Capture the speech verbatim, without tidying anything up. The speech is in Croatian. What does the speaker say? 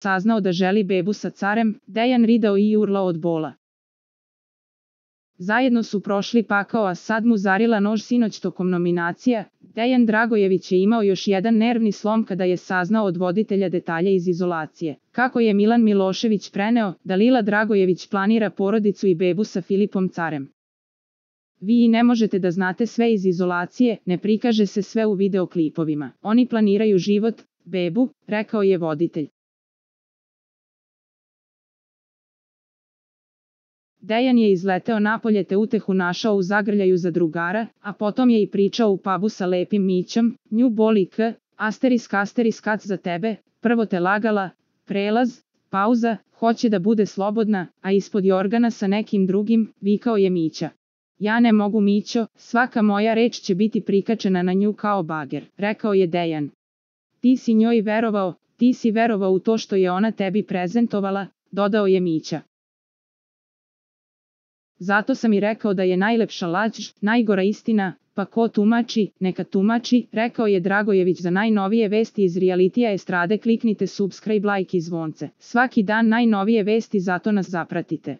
saznao da želi bebu sa carem, Dejan ridao i urlao od bola. Zajedno su prošli pakao, a sad mu zarila nož sinoć tokom nominacija. Dejan Dragojević je imao još jedan nervni slom kada je saznao od voditelja detalje iz izolacije. Kako je Milan Milošević preneo da Lila Dragojević planira porodicu i bebu sa Filipom Carem. Vi i ne možete da znate sve iz izolacije, ne prikaže se sve u videoklipovima. Oni planiraju život, bebu, rekao je voditelj. Dejan je izleteo napolje te utehu našao u zagrljaju za drugara, a potom je i pričao u pubu sa lepim Mićom, nju boli k, asterisk asterisk kac za tebe, prvo te lagala, prelaz, pauza, hoće da bude slobodna, a ispod jorgana sa nekim drugim, vikao je Mića. Ja ne mogu Mićo, svaka moja reč će biti prikačena na nju kao bager, rekao je Dejan. Ti si njoj verovao, ti si verovao u to što je ona tebi prezentovala, dodao je Mića. Zato sam i rekao da je najlepša laž, najgora istina, pa ko tumači, neka tumači, rekao je Dragojević. Za najnovije vesti iz realitija estrade kliknite subscribe, like i zvonce. Svaki dan najnovije vesti, zato nas zapratite.